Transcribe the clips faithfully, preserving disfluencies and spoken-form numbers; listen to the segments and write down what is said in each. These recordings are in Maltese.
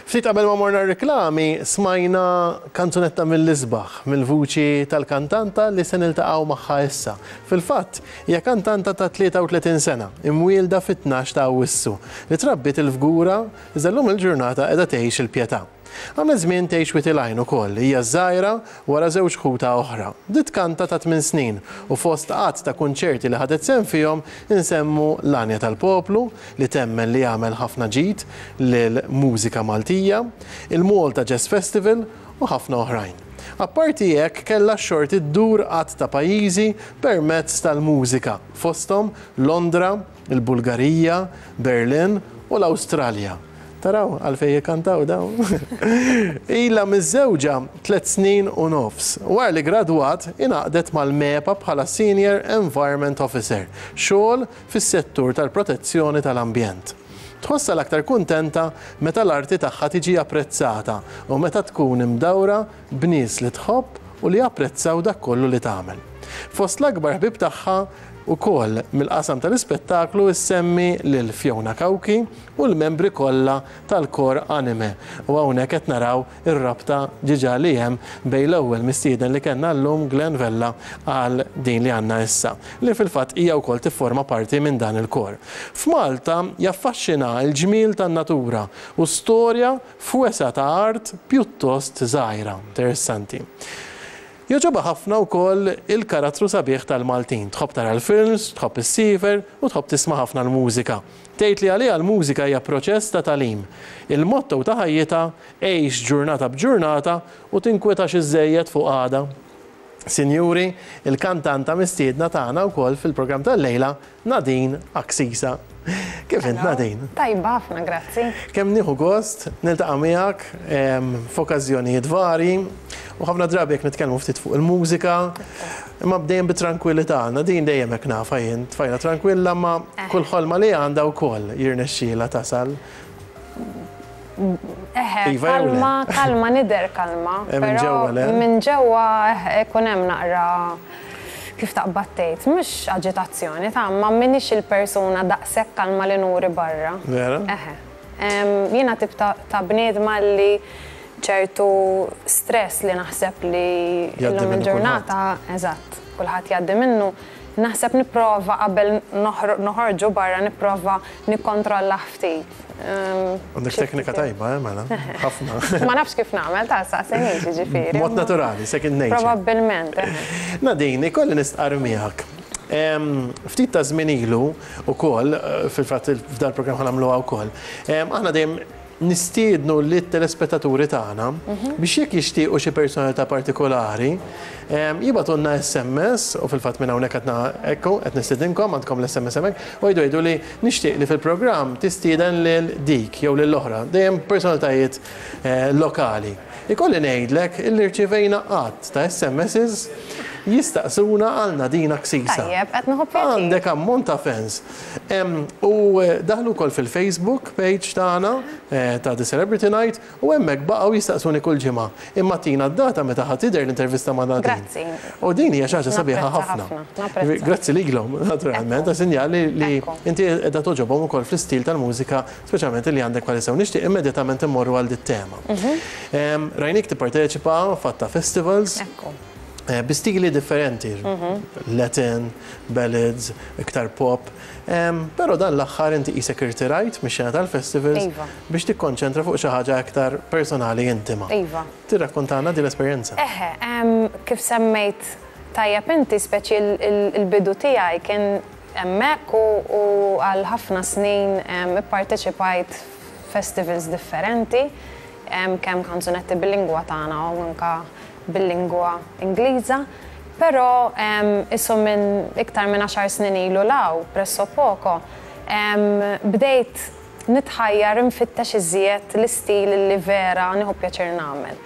Ftit qabel ma morna reklami smajna kanzunetta mill-isbaħ, mill-vuċi tal-kantanta li se niltaqgħu magħha issa. Fil-fatt, hija kantanta ta' tlieta u tletin sena, imwielda fit-tnax ta' Awwissu, li trabbiet il-Fgura, iżda llum il-ġurnata qiegħda tgħix il-Pietà. Għamlet żmien tgħix Wied il-Għajn ukoll, hija żgħira wara żewġ ħuta oħra. Bdiet tkanta ta' tmien snin u fost għadd ta' kunċerti li ħadet sehem fihom insemmu l-Għanja tal-Poplu, li temmen li jagħmel ħafna ġid lil-mużika Maltija, il-Malta Jazz Festival u ħafna oħrajn. Apparti hekk, kellha xorti ddur għadd ta' pajjiżi permezz tal-mużika, fosthom Londra, il-Bulgarija, Berlin u l-Awstralja. Taraw, għalfej jikantaw dawn. Ila miżżewġa tliet snin u nofs. Wara li gradwat, ingħaqdet mal-MEPA bħala Senior Environment Officer, xogħol fis-settur tal-protezzjoni tal-ambjent. Tħossa l-aktar kuntenta meta l-arti tagħha tiġi apprezzata u meta tkun imdawra b'nies li tħobb u li japprezzaw dak kollu li tagħmel. Fost l-akbar ħbib tagħha ukoll mill-qasam tal-ispettaklu issemmi lil Fiona Cauchi u l-membri kollha tal-kor Anime. U hawnhekk qed naraw ir-rabta diġà li hemm bejn l-ewwel mistieden li kellna llum, Glenn Vella, għal din li għandna issa, li fil-fatt hija wkoll tifforma parti minn dan il-kor. F'Malta jaffaxxina l-ġmiel tan-natura u storja f'wesa ta' art pjuttost żgħira. Interessanti. Jogħġobha ħafna wkoll il-karattru sabiħ tal-Maltin. Tħobb tara l-films, tħobb issiefer u tħobb tisma' ħafna l-mużika. Tgħid li għaliha l-mużika hija proċess ta' tagħlim. Il-motto ta' ħajjitha: għix ġurnata b'ġurnata u tinkwetax iżejjed fuq għada. Sinjuri, il-kantanta mistiedna tagħna wkoll fil-programm tal-lejla, Nadine Axisa. Kif int, Nadine? Tajba ħafna, grazzi. Kemm nieħu gost niltaqa' miegħek f'okkażjonijiet vari u ħafna drabi jekk nitkellmu ftit fuq il-mużika, imma dejjem bit-tranquillità. Nadine dejjem hekk nafha jien, tfajla tranquilla, ma kull ħolma li għandha wkoll jirnexxielha tasal. Eħe, Iva jew le? Kalma, kalma, nidher kalma. Eh, minn però ġewwa le? Minn ġewwa eħe, ikun hemm naqra, kif taqbad tgħid, mhux aġitazzjoni ta' ma minix il-persuna daqshekk kalma li nuri barra. Vera? Eħe. Em, Jiena tip ta' ta' bniedma li ċertu stress li naħseb li Jgħaddi illum minnu. Il-ġurnata, eżatt, kulħadd jgħaddi minnu, naħseb nipprova qabel noħro- noħorġu barra nipprova nikkontrolla ftit. Em, Għandek xi teknika ftit. tajba, eh, mela? Ħafna. Ma nafx kif nagħmel, ta' saqsenix ġifieri. Mod naturali, second nature. Probabbilment, eħe. Nadine, ikolli nistqar miegħek. Em, Ftit ta' żmien ilu ukoll, eh, fil-fatt f'dal programm ħa nagħmluha wkoll. em, Aħna dejjem nistiednu lit-telespettaturi tagħna biex jekk jixtiequ xi personalità partikolari, em, jibagħtulna S M S, u fil-fatt minn hawnhekk qed ekku qed nistedinkom, għandkom l-S M S hemmhekk, u jgħidu jgħidu li nixtieq li fil-programm tistieden lil dik jew lil oħra, dejjem personalitajiet eh, lokali. Ikolli ngħidlek illi rċivejna għadd ta' S M Ss jistaqsuna għal Nadine Axisa. Tajjeb, qed nieħu pjaċir. Għandek ammont ta' fans. Em, U eh, daħlu wkoll fil-Facebook page tagħna eh, ta' The Celebrity Night u hemmhekk baqgħu jistaqsuni kull ġimgħa: "Imma tina d-data meta ħa tidher l-intervista ma' Nadine." Grazzi. U din hija xi ħaġa sabiħa Napprezza ħafna. ħafna, napprezza. Grazzi lilhom, naturalment, ta' sinjali li Ekku. inti qiegħda togħġobhom ukoll fl-istil tal-mużika, speċjalment li għandek bħalissa, u nixtieq immedjatament immorru għal dit-tema. Mhm. Em, Rajnik tipparteċipa f'għadd ta' festivals Ekku. eh, bi stili differenti, Latin, ballads, iktar pop. Em, Però dan l-aħħar inti qisek irtirajt mix-xena tal-festivals Iva. biex tikkonċentra fuq xi ħaġa aktar personali, intima. Iva. Tirrakkontana din l-esperjenza. Eħe, em, kif semmejt tajjeb inti, speċi il- il- il-bidu tiegħi kien hemmhekk u u għal ħafna snin em, ipparteċipajt festivals differenti, em, kemm kanzunetti bil-lingwa tagħna u anka bil-lingwa Ingliża. Però em, issu minn iktar minn għaxar snin ilu 'l hawn, presso poco, em, bdejt nitħajjar nfittex iżjed l-istil li vera nieħu pjaċir nagħmel.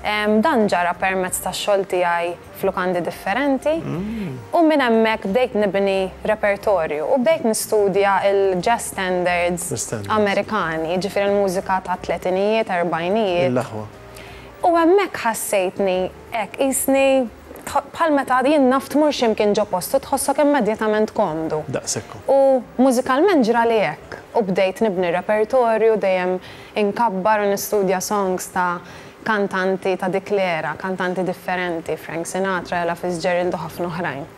Em, Dan ġara permezz ta' xogħol tiegħi f'lukandi differenti u minn hemmhekk bdejt nibni repertorju u bdejt nistudja il-jazz standards Standards. Amerikani, ġifieri l-mużika ta' tletinijiet, erbajnijiet. Il-laħwa. U hemmhekk ħassejtni hekk qisni dħalt Bħal meta jien naf tmur x'imkien ġo postu tħossok immedjatament komdu. Daqshekk. U mużikalment ġrali hekk. U bdejt nibni repertorju, dejjem inkabbar u nistudja songs ta' kantanti ta' dik l-era, kantanti differenti, Frank Sinatra, Ella Fitzgerald u ħafna oħrajn.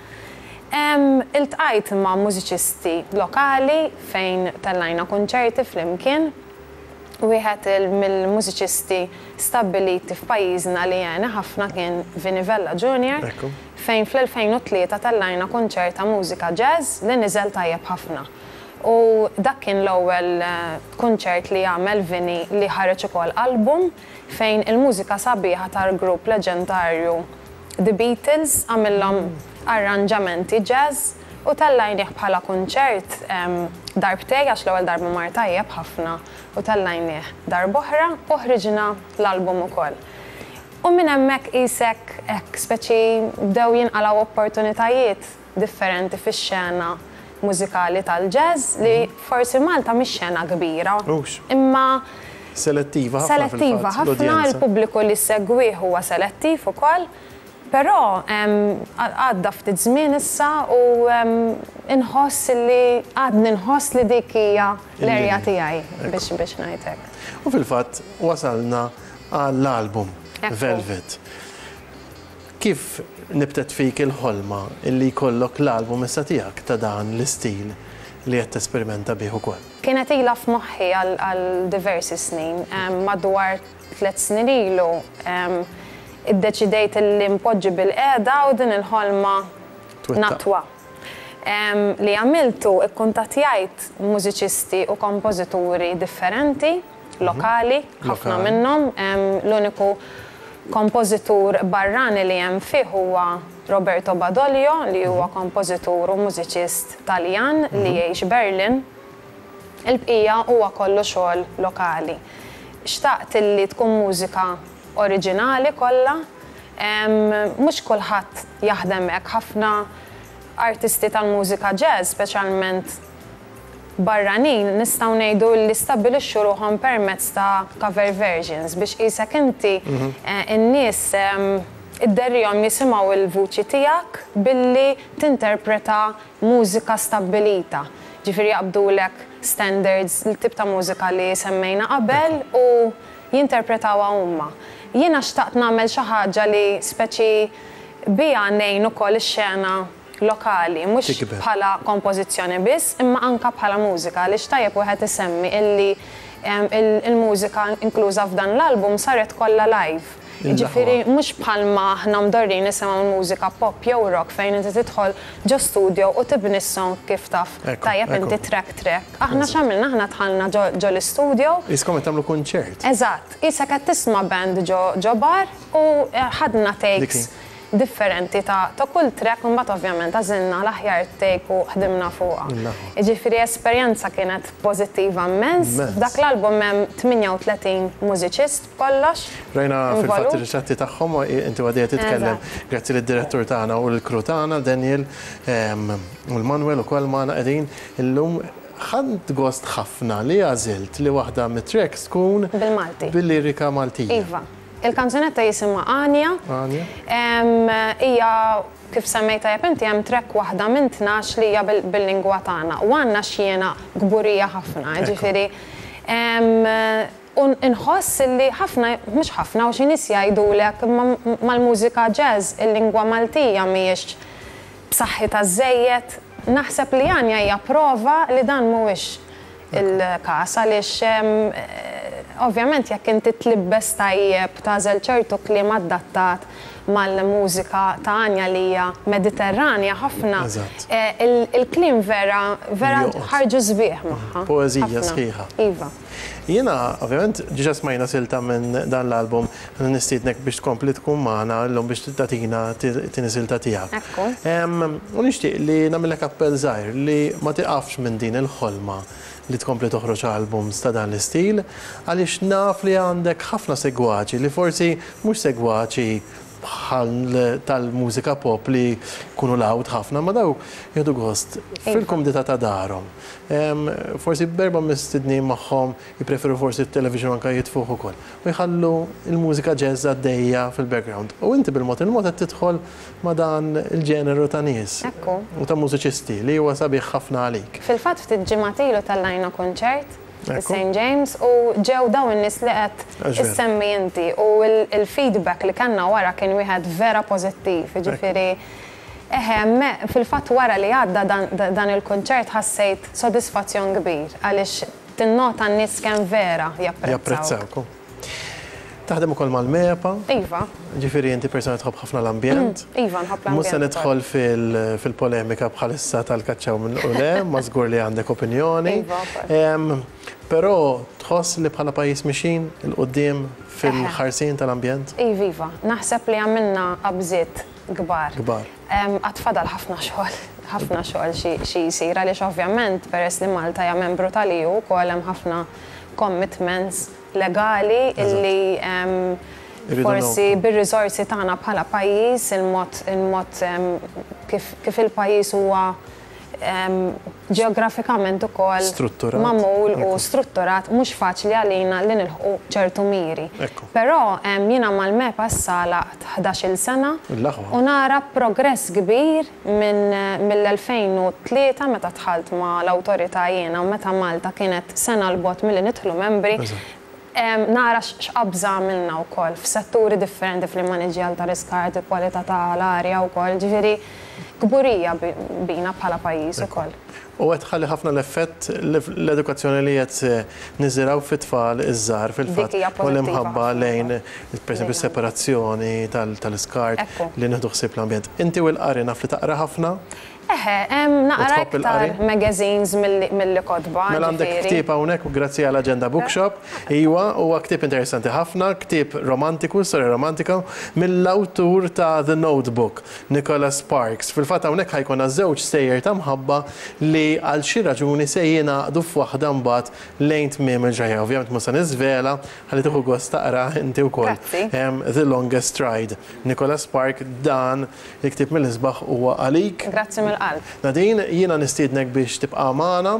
Iltqajt ma' mużiċisti lokali fejn tellajna konċerti flimkien. Wieħed mill-mużiċisti stabbiliti f'pajjiżna li għeni ħafna kien Vinnie Vella Junior fejn fl-elfejn u tlieta tellajna kunċert ta' mużika jazz li niżel tajjeb ħafna. U dak kien l-ewwel kunċert li għamel Vinnie li ħareġ ukoll album fejn il-mużika sabiħa tal-grupp leġendarju The Beatles għamillhom arranġamenti jazz u tellajnieh bħala kunċert darbtejn, għax l-ewwel darba mar tajjeb ħafna u tellajnieh darb'oħra u ħriġna l-album ukoll. U minn hemmhekk qisek hekk speċi bdew jinqalgħu opportunitajiet differenti fix-xena mużikali tal-jazz li forsi Malta mhix xena kbira. Imma selettiva ħafna. Selettiva ħafna, il-pubbliku li segwih huwa selettiv ukoll. Però għadda ftit żmien issa u inħoss li għadni nħoss li dik hija l-erja tiegħi biex biex ngħidlek. U fil-fatt wasalna għall-album Velvet. Kif nibtet fik il-ħolma illi jkollok l-album issa tiegħek ta' dan l-istil li qed tesperimenta bih ukoll? Kienet ilha f'moħħi għal diversi snin, madwar tliet snin ilu iddeċidejt li npoġġi bil-qiegħda u din il-ħolma natwa. Li għamiltu, ikkuntattjajt mużiċisti u kompożituri differenti, lokali, ħafna minnhom. L-uniku kompożitur barrani li hemm fih huwa Roberto Badoglio, li huwa kompożitur u mużiċist Taljan li jgħix Berlin. Il-bqija huwa kollu xogħol lokali. Xtaqt li tkun mużika oriġinali kollha, mhux kulħadd jaħdem hekk, ħafna artisti tal-mużika jazz, speċjalment barranin, nistgħu ngħidu li stabbilixxu ruħhom permezz ta' cover versions biex qisek inti n-nies idderrihom jisimgħu il-vuċi tiegħek billi tinterpreta mużika stabbilita. Ġifieri jaqbdulek standards, il-tip ta' mużika li semmejna qabel, u jinterpretawha huma. Jiena xtaqt nagħmel xi ħaġa li speċi biha ngħin ukoll ix-xena lokali, mhux bħala kompożizzjoni biss, imma anka bħala mużika, li tajjeb wieħed isemmi illi il-mużika inkluża f'dan l-album saret kollha live. Ġifieri mhux bħalma aħna mdorrin nisimgħu mużika pop jew rock fejn inti tidħol ġo studio u tibni s-song kif taf tajjeb inti track track. Aħna x'għamilna, aħna dħalna ġo l-istudio. Qiskom qed tagħmlu kunċert. Eżatt, qisek qed tisma' band ġo bar u ħadna takes differenti ta' kull track, u mbagħad ovvjament għażilna l-aħjar take u ħdimna fuqha. Jiġifieri esperjenza kienet pożittiva immens. F'dak l-album hemm tmienja u tletin mużiċist b'kollox. Rajna fil-fatt ir-ritratti tagħhom inti għadija titkellem. Grazzi lid-direttur tagħna u l-crew tagħna, Daniel u l-Manuel ukoll magħna qegħdin illum. Ħadt gost ħafna li għażilt li waħda mit-tracks tkun bil-Malti. Bil-lirika Maltija. Iva. Il-kanzunetta jisimha Anja. Hija kif semmejta tajjeb inti, hemm track waħda minn tnax li hija bil-lingwa tagħna. U għandna x'jiena kburija ħafna, ġifieri u nħoss li ħafna, mhux ħafna, u xi nies jgħidulek mal-mużika jazz il-lingwa Maltija mhijiex b'saħħitha żejjed. Naħseb li Anja hija prova li dan mhuwiex il-każ, għaliex ovvjament jekk inti tlibbes tajjeb, tagħżel ċertu kliem adattat mal-mużika ta' Anja li hija Mediterranja ħafna, il-kliem vera vera ħarġu sbieħ magħha. Poeżija sħiħa. Iva. Jiena, ovvjament, ġiġa smajna silta minn dan l-album, nistiednek biex tkompli tkun magħna llum biex tagħtina tieni silta tiegħek. Ekku. U nixtieq li nagħmilek appell żgħir li ma tiqafx minn din il-ħolma li tkompli toħroġ albums ta' dan l-istil, għaliex naf li għandek ħafna segwaċi li forsi mhux segwaċi bħal tal-mużika pop li jkunu loud ħafna, ma daw jieħdu gost fil-kumdità ta' darhom. Forsi b'erba' mistednin magħhom, jippreferu forsi t-television anka jitfuh ukoll. U jħallu il-mużika jazz għaddejja fil-background. U inti bil-mod il-mod qed tidħol ma' dan il-ġeneru ta' nies. U ta' mużiċisti li huwa sabiħ ħafna għalik. Fil-fatt ftit ġimgħat ilu tellajna kunċert Saint James u ġew dawn in-nies li qed issemmi inti u il-feedback li kellna wara kien wieħed vera pożittiv, jiġifieri eħe, fil-fatt wara li għadda dan il-kunċert ħassejt sodisfazzjon kbir għaliex tinnota n-nies kemm vera japprezzaw. Taħdem ukoll mal-MEPA. Iva. Ġifieri inti persona tħobb ħafna l-ambjent. Iva, nħobb l-ambjent. Mhux se nidħol fil-polemika bħalissa tal-kaċċaw minn ule, ma żgur li għandek opinjoni. Iva. Però tħoss li bħala pajjiż mixin 'il quddiem fil-ħarsien tal-ambjent? Iva, iva. Naħseb li għamilna qabżiet kbar. Kbar. Għad fadal ħafna xogħol, ħafna xogħol xi jsir għaliex ovvjament peress li Malta hija membru tal-E U wkoll hemm ħafna commitments legali illi forsi bir-riżorsi tagħna bħala pajjiż, il-mod il-mod kif il-pajjiż huwa ġeografikament ukoll magħmul u strutturat, mhux faċli għalina li nilħqu ċertu miri. Però jiena mal-MEPA issa laqt ħdax-il sena u nara progress kbir minn mill-elfejn u tlieta meta dħalt ma l-awtorità jiena u meta Malta kienet sena 'l bogħod milli nidħlu membri. Nara x'qabża għamilna wkoll f'setturi differenti, fl-immaniġġjar tal-iskart, il-kwalità tal-arja wkoll, ġifieri kburija bina bħala pajjiż ukoll. U qed tħalli ħafna l-effett l-edukazzjoni li qed niżiraw fit-tfal iż-żgħar fil-fatt u l-imħabba lejn, pereżempju, separazzjoni tal-iskart, li nieħdu ħsieb l-ambjent. Inti u l-qari, naf li taqra ħafna. Eħe, naqra iktar magazines mill kotba. Mela għandek ktieb hawnhekk grazzi għal Agenda Bookshop. Iwa, huwa ktieb interessanti ħafna, ktieb romantiku, storja romantika, mill-awtur ta' The Notebook, Nicholas Sparks. Fil-fatt hawnhekk ħa jkollna żewġ stejjer ta' mħabba li għal xi raġuni se jingħaqdu f'waħda mbagħad lejn tmiem il-ġajja. Ovvjament mhux se niżvela, ħalli tieħu gost taqra inti wkoll. The Longest Ride. Nicholas Spark, dan il-ktieb mill-isbaħ huwa għalik. Grazzi mill-qalb. Nadine, jiena nistiednek biex tibqa' magħna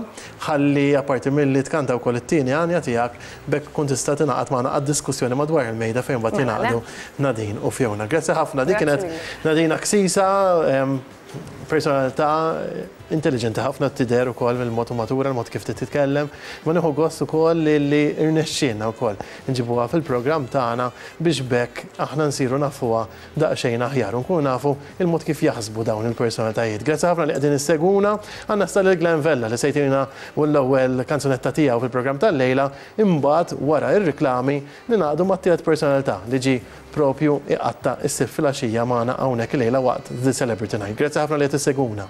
ħalli apparti milli tkanta wkoll it-tieni għanja tiegħek, biex tkun tista' tingħaqad magħna għad-diskussjoni madwar il-mejda fejn mbagħad jingħaqdu Nadine u Fiona. Grazzi ħafna. Dik kienet Nadine Axisa, personalità intelligenti ħafna tidher ukoll mill-mod matura, l-mod kif titkellem. Ma nieħu gost ukoll li rnexxielna wkoll nġibuha fil-programm tagħna biex b'hekk aħna nsiru nafuha daqsxejn aħjar u nkunu nafu il-mod kif jaħsbu dawn il-personalitajiet. Grazzi ħafna li qegħdin issegwuna. Għandna stal il-Glenn Vella li se jtina l-ewwel kanzunetta tiegħu fil-programm tal-lejla, imbagħad wara ir-riklami ningħaqdu mat-tielet personalità li ġi propju iqatta' s-Sibt filgħaxija magħna hawnhekk illejla waqt The Celebrity Night. Grazzi ħafna li qed issegwuna.